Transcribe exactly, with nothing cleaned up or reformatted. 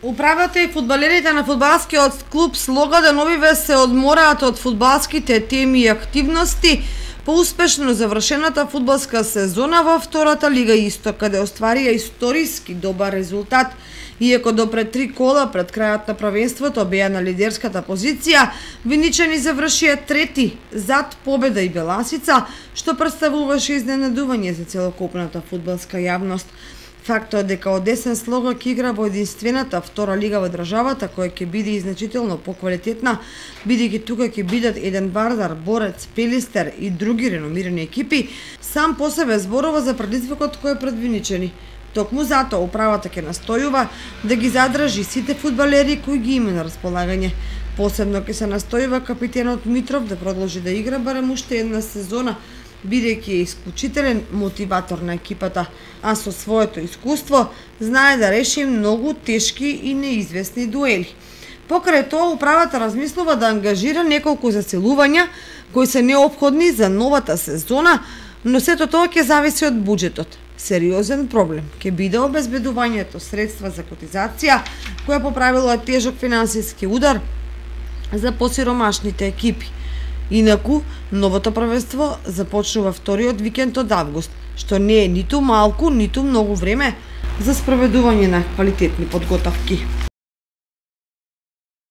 Управата и фудбалерите на фудбалскиот клуб Слога деновиве се одмораат од фудбалските теми и активности по успешно завршената фудбалска сезона во втората Лига Исток, каде остварија историски добар резултат. Иако до пред три кола пред крајот на првенството беа на лидерската позиција, виничани завршија трети зад Победа и Беласица, што представуваше изненадување за целокупната фудбалска јавност. Фактот дека Одесен Слога ќе игра во единствената втора лига во државата, која ќе биде и значително поквалитетна, бидејќи тука ќе бидат еден Вардар, Борец, Пелистер и други реномирани екипи, сам по себе зборува за предизвикот кој е пред виничани. Токму затоа управата ќе настојува да ги задржи сите фудбалери кои ги има на располагање. Посебно ќе се настојува капитенот Митров да продолжи да игра барем уште една сезона, бидејќи е исклучителен мотиватор на екипата, а со своето искуство знае да реши многу тешки и неизвестни дуели. Покрај тоа, управата размислува да ангажира неколку заселувања кои се неопходни за новата сезона, но сето тоа ќе зависи од буџетот. Сериозен проблем ќе биде обезбедувањето средства за котизација, која по правило е тежок финансиски удар за посиромашните екипи. Инаку, новото првенство започнува вториот викенд од август, што не е ниту малку, ниту многу време за спроведување на квалитетни подготовки.